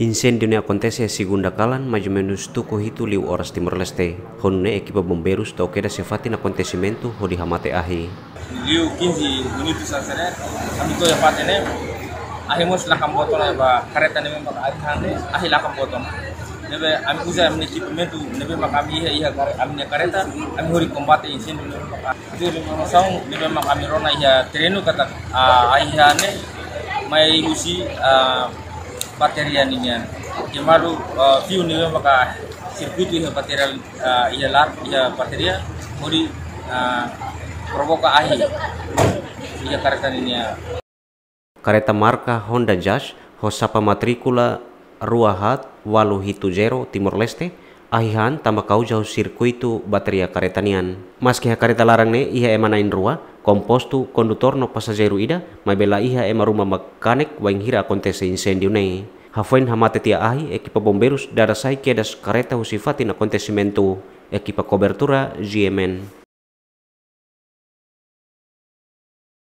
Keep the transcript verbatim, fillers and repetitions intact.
Inséndiu ne'e akontese segunda kalan, mais ou menus tuku hitu liu oras Timor-Leste. Ho nune'e ekipa bombeirus to'o kedas iha fatin akontesimentu hodi hamate ahi. Liu kinze minutu sasere, ami to'o iha fatin ne'e, ahi mós lakon boot ona ba kareta ne'ebé maka ahi hanesan ne'e, ahi lakon boot ona. Ne'ebé ami uza ami-nia ekipamentu ne'ebé maka ami iha, iha kare-, ami-nia kareta, ami hodi kombate inséndiu ne'ebé maka. Itu informasaun ne'ebé maka ami rona iha terrenu katak, ah, ahi hanesan ne'e mai husi, ah, bateria ninian. Kemadu, ah, fiu ne'ebé maka sirkuitu iha bateria, ah, iha lar, iha bateria, hodi, ah, provoka ahi iha kareta ninian. Kareta marka Honda Jazz ho xapa matríkula rua haat ualu hitu zero Timor-Leste ahi han tanba kauza husi sirkuitu bateria kareta nian. Maski iha kareta laran ne'e iha ema na'in-rua, kompostu kondutór no pasajeiru ida, maibé la iha ema ruma mak kanek wainhira akontese inséndiu ne'e. Hafoin hamate tiha ahi, ekipa bombeirus dada sai kedas kareta husi fatin akontesimentu. Ekipa kobertura G M N.